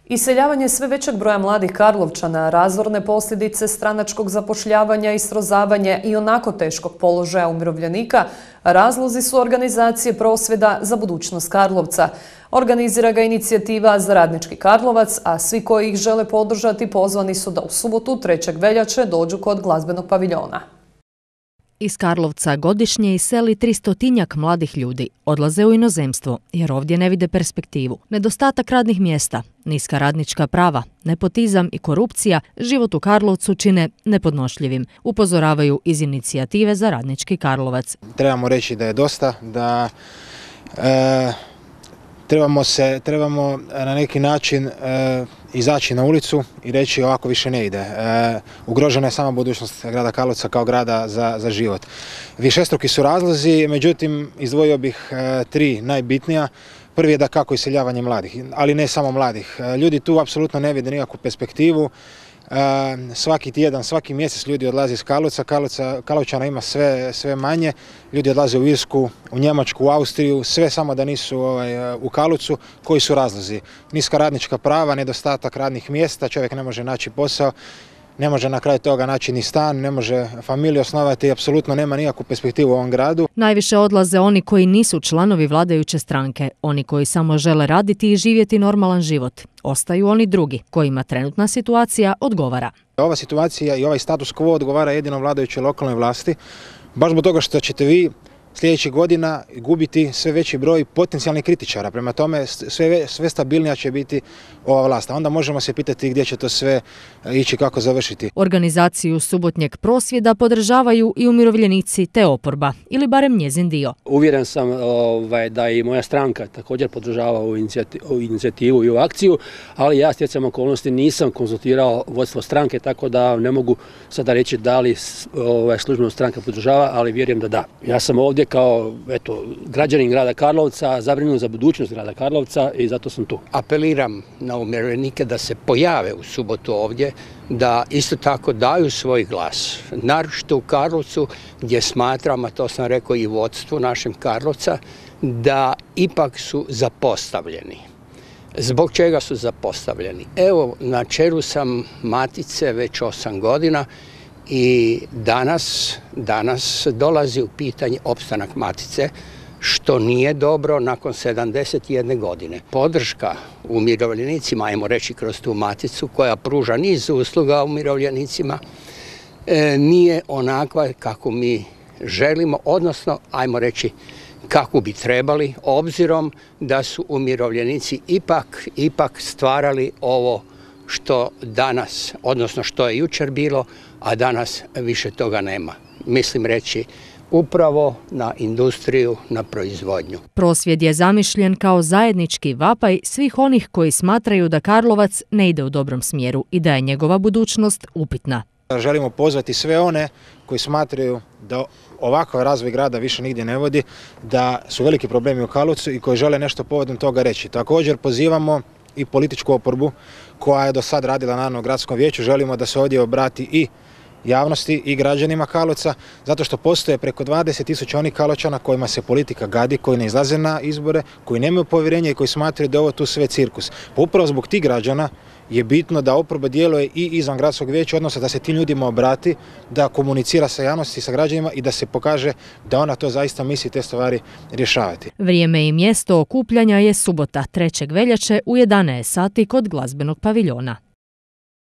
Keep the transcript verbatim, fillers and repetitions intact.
Iseljavanje sve većeg broja mladih Karlovčana, razorne posljedice stranačkog zapošljavanja i srozavanje i onako teškog položaja umirovljenika razlozi su organizacije prosvjeda za budućnost Karlovca. Organizira ga inicijativa za radnički Karlovac, a svi koji ih žele podržati pozvani su da u subotu trećeg veljače dođu kod glazbenog paviljona. Iz Karlovca godišnje iseli tristotinjak mladih ljudi. Odlaze u inozemstvo jer ovdje ne vide perspektivu. Nedostatak radnih mjesta, niska radnička prava, nepotizam i korupcija život u Karlovcu čine nepodnošljivim, upozoravaju iz inicijative za radnički Karlovac. Trebamo reći da je dosta, da e, trebamo, se, trebamo na neki način e, izaći na ulicu i reći ovako više ne ide. E, ugrožena je sama budućnost grada Karlovca kao grada za, za život. Višestruki su razlozi, međutim izdvojio bih e, tri najbitnija. Prvi je da kako iseljavanje mladih, ali ne samo mladih. E, ljudi tu apsolutno ne vide nikakvu perspektivu. E, svaki tjedan, svaki mjesec ljudi odlaze iz Karlovca, Karlovca Karlovčana ima sve, sve manje, ljudi odlaze u Irsku, u Njemačku, u Austriju, sve samo da nisu ovaj, u Karlovcu. Koji su razlozi? Niska radnička prava, nedostatak radnih mjesta, čovjek ne može naći posao, ne može na kraju toga naći ni stan, ne može familiju osnovati i apsolutno nema nikakvu perspektivu u ovom gradu. Najviše odlaze oni koji nisu članovi vladajuće stranke, oni koji samo žele raditi i živjeti normalan život. Ostaju oni drugi, kojima trenutna situacija odgovara. Ova situacija i ovaj status quo odgovara jedino vladajućoj lokalnoj vlasti, baš zbog toga što ćete vi sljedećih godina gubiti sve veći broj potencijalnih kritičara. Prema tome sve, sve stabilnija će biti ova vlast. Onda možemo se pitati gdje će to sve ići, kako završiti. Organizaciju subotnjeg prosvjeda podržavaju i umirovljenici te oporba, ili barem njezin dio. Uvjeren sam ovaj, da i moja stranka također podržava ovu inicijativu, inicijativu i ovu akciju, ali ja stjecajem okolnosti nisam konzultirao vodstvo stranke, tako da ne mogu sada reći da li ovaj, službeno stranka podržava, ali vjerujem da da. Ja sam ovdje kao eto, građanin grada Karlovca, zabrinut za budućnost grada Karlovca i zato sam tu. Apeliram na umirovljenike da se pojave u subotu ovdje, da isto tako daju svoj glas. Naročito u Karlovcu gdje smatram, a to sam rekao i vodstvu našem Karlovca, da ipak su zapostavljeni. Zbog čega su zapostavljeni? Evo, na čelu sam Matice već osam godina i danas, danas dolazi u pitanje opstanak Matice, što nije dobro nakon sedamdeset jedne godine. Podrška umirovljenicima, ajmo reći kroz tu Maticu, koja pruža niz usluga umirovljenicima, e, nije onakva kako mi želimo, odnosno, ajmo reći, kako bi trebali, obzirom da su umirovljenici ipak, ipak stvarali ovo što danas, odnosno što je jučer bilo, a danas više toga nema. Mislim reći upravo na industriju, na proizvodnju. Prosvjed je zamišljen kao zajednički vapaj svih onih koji smatraju da Karlovac ne ide u dobrom smjeru i da je njegova budućnost upitna. Želimo pozvati sve one koji smatraju da ovakav razvoj grada više nigdje ne vodi, da su veliki problemi u Karlovcu i koji žele nešto povodom toga reći. Također pozivamo i političku oporbu koja je do sad radila naravno u gradskom vijeću. Želimo da se ovdje obrati i javnosti i građanima Karlovca, zato što postoje preko dvadeset tisuća onih Karlovčana kojima se politika gadi, koji ne izlaze na izbore, koji nemaju povjerenja i koji smatraju da je ovo tu sve cirkus. Pa upravo zbog tih građana je bitno da oporba djeluje i izvan gradskog vijeća, odnosno da se tim ljudima obrati, da komunicira sa javnosti, sa građanima i da se pokaže da ona to zaista misli te stvari rješavati. Vrijeme i mjesto okupljanja je subota trećeg veljače u jedanaest sati kod glazbenog paviljona.